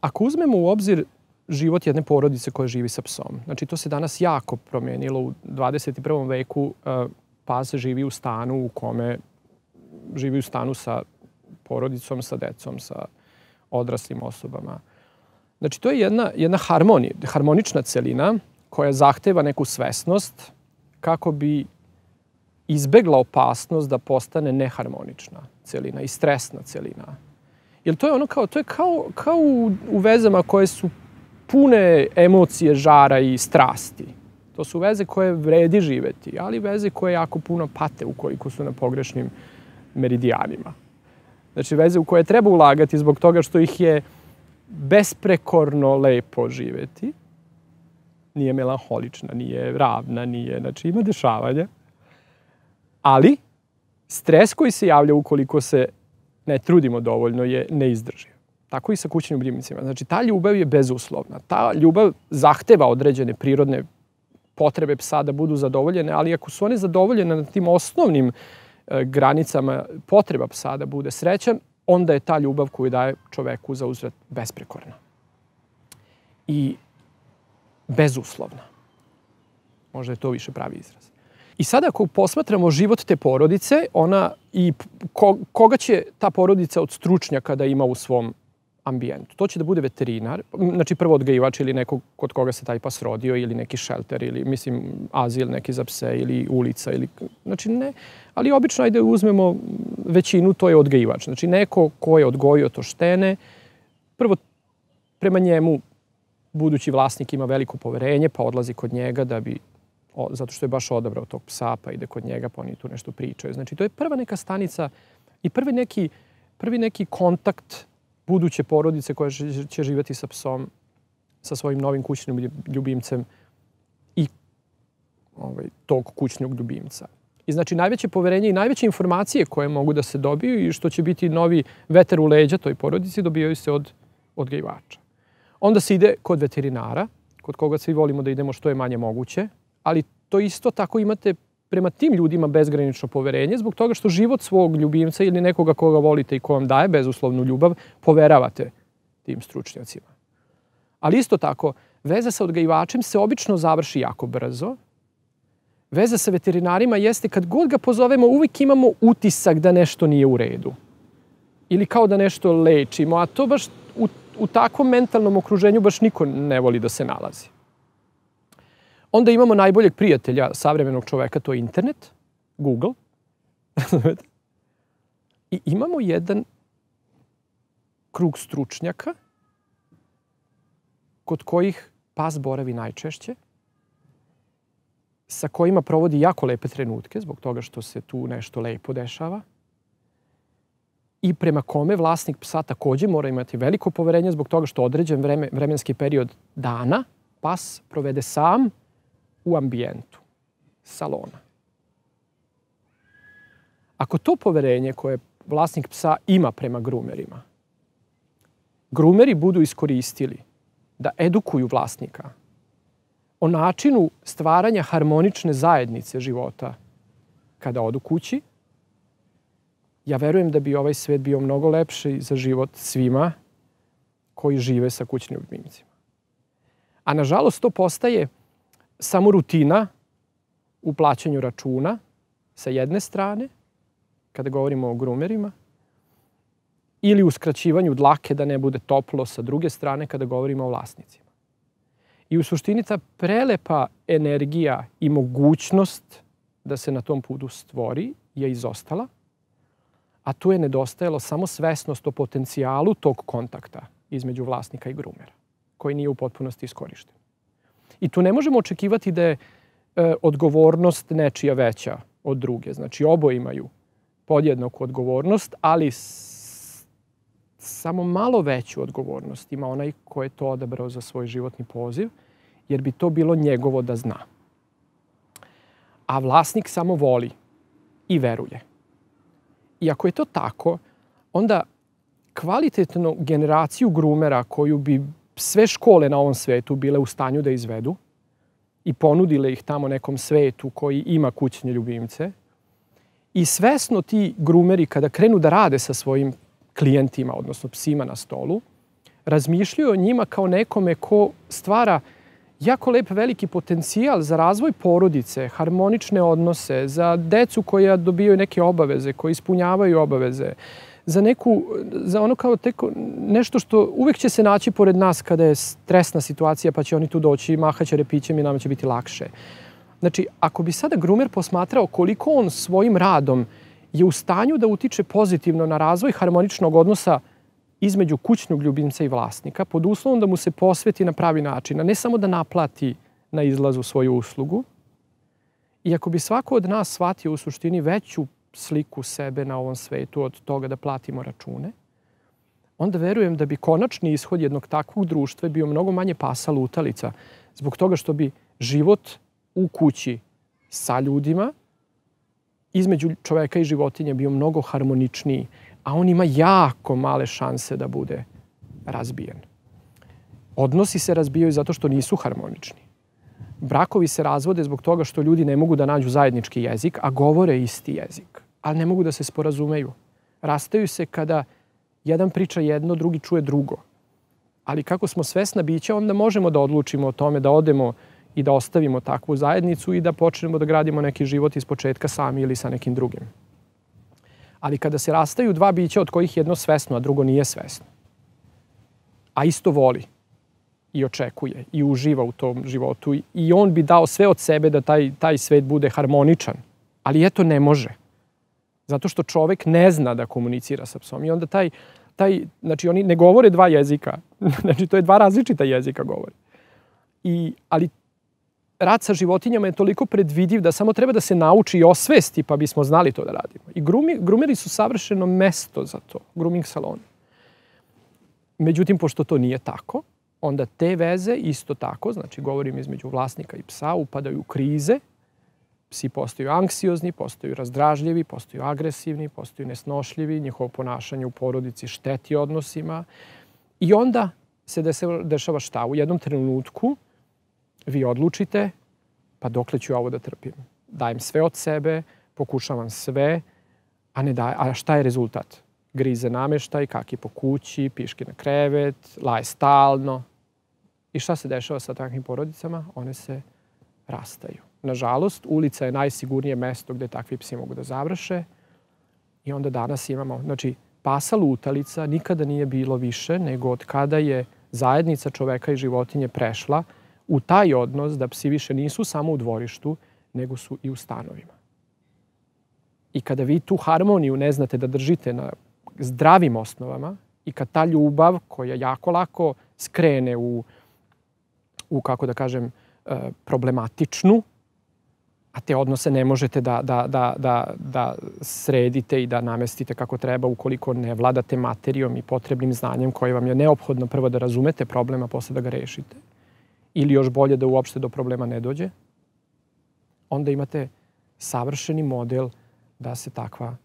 ako uzmemo u obzir život jedne porodice koja živi sa psom, znači to se danas jako promenilo u 21. veku, pas živi u stanu u kome živi u stanu sa porodicom, sa decom, sa odraslim osobama. Znači, to je jedna harmonična celina koja zahteva neku svesnost kako bi izbegla opasnost da postane neharmonična celina i stresna celina. Jer to je kao u vezama koje su pune emocije, žara i strasti. To su veze koje vredi živeti, ali veze koje jako puno pate ukoliko su na pogrešnim meridijanima. Znači, veze u koje treba ulagati zbog toga što ih je besprekorno lepo živeti. Nije melanholična, nije ravna, znači ima dešavanja. Ali stres koji se javlja ukoliko se ne trudimo dovoljno je neizdrživ. Tako i sa kućnim ljubimcima. Znači, ta ljubav je bezuslovna. Ta ljubav zahteva određene prirodne potrebe psa da budu zadovoljene, ali ako su one zadovoljene na tim osnovnim granicama potreba psa da bude srećan, onda je ta ljubav koju daje čoveku za uzvrat besprekorna. I bezuslovna. Možda je to više pravi izraz. I sada ako posmatramo život te porodice, koga će ta porodica od stručnjaka da ima u svom ambijentu? To će da bude veterinar, znači prvo odgajivač ili nekog kod koga se taj pas rodio ili neki šelter ili azil neki za pse ili ulica znači ne, ali obično ajde uzmemo većinu, to je odgajivač. Znači neko ko je odgojio to štene, prvo prema njemu budući vlasnik ima veliko poverenje pa odlazi kod njega zato što je baš odabrao tog psa pa ide kod njega pa oni tu nešto pričaju. Znači to je prva neka stanica i prvi neki kontakt buduće porodice koja će živjeti sa psom, sa svojim novim kućnim ljubimcem i tog kućnog ljubimca. I znači najveće poverenje i najveće informacije koje mogu da se dobiju i što će biti novi vetar u leđa toj porodici dobijaju se od odgajivača. Onda se ide kod veterinara, kod koga svi volimo da idemo što je manje moguće, ali to isto tako imate prema tim ljudima bezgranično poverenje zbog toga što život svog ljubimca ili nekoga koga volite i ko vam daje bezuslovnu ljubav poveravate tim stručnjacima. Ali isto tako, veza sa odgajivačem se obično završi jako brzo. Veza sa veterinarima jeste kad god ga pozovemo uvijek imamo utisak da nešto nije u redu. Ili kao da nešto lečimo, a to baš u takvom mentalnom okruženju baš niko ne voli da se nalazi. Onda imamo najboljeg prijatelja savremenog čoveka, to je internet, Google. I imamo jedan krug stručnjaka kod kojih pas boravi najčešće, sa kojima provodi jako lepe trenutke zbog toga što se tu nešto lepo dešava i prema kome vlasnik psa takođe mora imati veliko poverenje zbog toga što određen vremenski period dana pas provede sam u ambijentu salona. Ako to poverenje koje vlasnik psa ima prema grumerima, grumeri budu iskoristili da edukuju vlasnika o načinu stvaranja harmonične zajednice života kada odu kući, ja verujem da bi ovaj svet bio mnogo lepši za život svima koji žive sa kućnim ljubimcima. A nažalost to postaje samo rutina u plaćanju računa sa jedne strane, kada govorimo o grumerima, ili u skraćivanju dlake da ne bude toplo sa druge strane kada govorimo o vlasnicima. I u suštini ta prelepa energija i mogućnost da se na tom putu stvori je izostala, a tu je nedostajalo samo svesnost o potencijalu tog kontakta između vlasnika i grumera, koji nije u potpunosti iskorišten. I tu ne možemo očekivati da je odgovornost nečija veća od druge. Znači, oboje imaju podjednaku odgovornost, ali samo malo veću odgovornost ima onaj ko je to odabrao za svoj životni poziv, jer bi to bilo njegovo da zna. A vlasnik samo voli i veruje. I ako je to tako, onda kvalitetnu generaciju grumera koju bi sve škole na ovom svetu bile u stanju da izvedu i ponudile ih tamo nekom svetu koji ima kućne ljubimce i svesno ti grumeri kada krenu da rade sa svojim klijentima, odnosno psima na stolu, razmišljaju o njima kao nekome ko stvara jako lep veliki potencijal za razvoj porodice, harmonične odnose, za decu koja dobijaju neke obaveze, koji ispunjavaju obaveze, za ono kao nešto što uvek će se naći pored nas kada je stresna situacija, pa će oni tu doći, mahaće repićem i nama će biti lakše. Znači, ako bi sada grumer posmatrao koliko on svojim radom je u stanju da utiče pozitivno na razvoj harmoničnog odnosa između kućnog ljubimca i vlasnika, pod uslovom da mu se posveti na pravi način, a ne samo da naplati na izlazu svoju uslugu. I ako bi svako od nas shvatio u suštini veću sliku sebe na ovom svetu od toga da platimo račune, onda verujem da bi konačni ishod jednog takvog društva bio mnogo manje pasa lutalica, zbog toga što bi život u kući sa ljudima između čoveka i životinje bio mnogo harmoničniji, a on ima jako male šanse da bude razbijen. Odnosi se razbijaju zato što nisu harmonični. Brakovi se razvode zbog toga što ljudi ne mogu da nađu zajednički jezik, a govore isti jezik, ali ne mogu da se sporazumeju. Rastaju se kada jedan priča jedno, drugi čuje drugo. Ali kako smo svesna bića, onda možemo da odlučimo o tome da odemo i da ostavimo takvu zajednicu i da počnemo da gradimo neki život ispočetka sami ili sa nekim drugim. Ali kada se rastaju dva bića od kojih jedno svesno, a drugo nije svesno, a isto voli i očekuje i uživa u tom životu i on bi dao sve od sebe da taj svet bude harmoničan, ali eto ne može. Zato što čovek ne zna da komunicira sa psom i onda znači oni ne govore dva jezika, znači to je dva različita jezika govore. Ali rad sa životinjama je toliko predvidiv da samo treba da se nauči i osvesti pa bismo znali to da radimo. I grumeri su savršeno mesto za to, grooming saloni. Međutim, pošto to nije tako, onda te veze isto tako, znači govorim između vlasnika i psa, upadaju u krize. Psi postaju anksiozni, postaju razdražljivi, postaju agresivni, postaju nesnošljivi, njihovo ponašanje u porodici šteti odnosima. I onda se dešava šta? U jednom trenutku vi odlučite, pa dokle ću ovo da trpim? Dajem sve od sebe, pokušavam sve, a šta je rezultat? Grize nameštaj, kaki po kući, piški na krevet, laje stalno. I šta se dešava sa takvim porodicama? One se rastaju. Nažalost, ulica je najsigurnije mesto gde takvi psi mogu da završe i onda danas imamo, znači, pasa lutalica nikada nije bilo više nego od kada je zajednica čoveka i životinje prešla u taj odnos da psi više nisu samo u dvorištu, nego su i u stanovima. I kada vi tu harmoniju ne znate da držite na zdravim osnovama i kad ta ljubav koja jako lako skrene u kako da kažem, problematičnu, a te odnose ne možete da sredite i da namestite kako treba ukoliko ne vladate materijom i potrebnim znanjem koje vam je neophodno prvo da razumete problem, a posle da ga rešite. Ili još bolje da uopšte do problema ne dođe. Onda imate savršeni model da se takva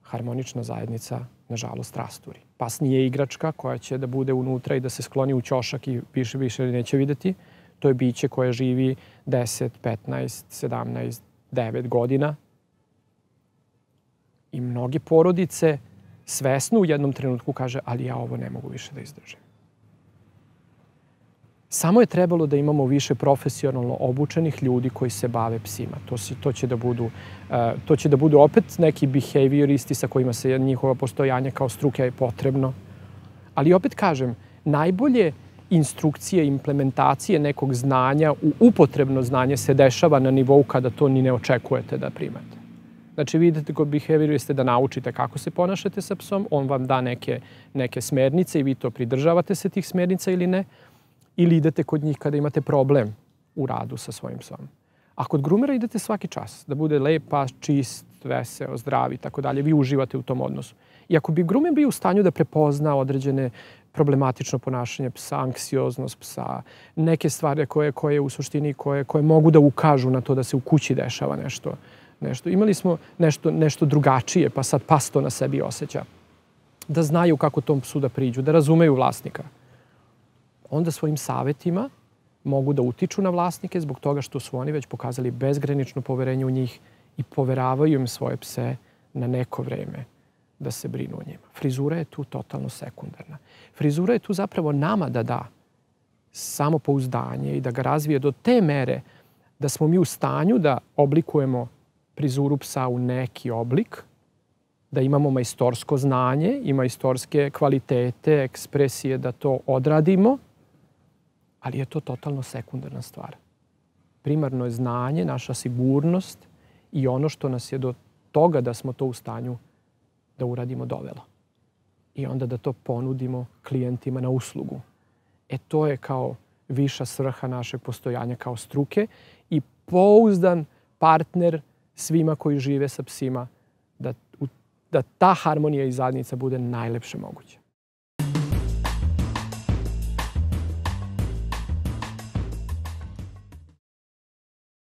harmonična zajednica, nažalost, rasturi. Pas nije igračka koja će da bude unutra i da se skloni u ćošak i više neće videti. To je biće koje živi 10, 15, 17, 9 godina. I mnoge porodice svesno u jednom trenutku kaže, ali ja ovo ne mogu više da izdržim. Samo je trebalo da imamo više profesionalno obučenih ljudi koji se bave psima. To će da budu opet neki behavioristi sa kojima se njihova postojanja kao struke je potrebno. Ali opet kažem, najbolje instrukcije, implementacije nekog znanja u upotrebno znanje se dešava na nivou kada to ni ne očekujete da primate. Znači, vi idete kod behavioriste da naučite kako se ponašate sa psom, on vam da neke smernice i vi to pridržavate se tih smernica ili ne, ili idete kod njih kada imate problem u radu sa svojim psom. A kod grumera idete svaki čas, da bude lep pas, čist, veseo, zdrav i tako dalje. Vi uživate u tom odnosu. I ako bi grumer bio u stanju da prepozna određene problematično ponašanje psa, anksioznost psa, neke stvari koje u suštini koje mogu da ukažu na to da se u kući dešava nešto. Imali smo nešto drugačije, pa sad pas to na sebi osjeća. Da znaju kako tom psu da priđu, da razumeju vlasnika. Onda svojim savetima mogu da utiču na vlasnike zbog toga što su oni već pokazali bezgranično poverenje u njih i poveravaju im svoje pse na neko vreme da se brinu o njima. Frizura je tu totalno sekundarna. Frizura je tu zapravo nama da da samopouzdanje i da ga razvije do te mere da smo mi u stanju da oblikujemo frizuru psa u neki oblik, da imamo majstorsko znanje i majstorske kvalitete, ekspresije da to odradimo, ali je to totalno sekundarna stvar. Primarno je znanje, naša sigurnost i ono što nas je do toga da smo to u stanju da uradimo dovelo. I onda da to ponudimo klijentima na uslugu. To je kao viša svrha našeg postojanja kao struke i pouzdan partner svima koji žive sa psima da ta harmonija i zajednica bude najlepše moguće.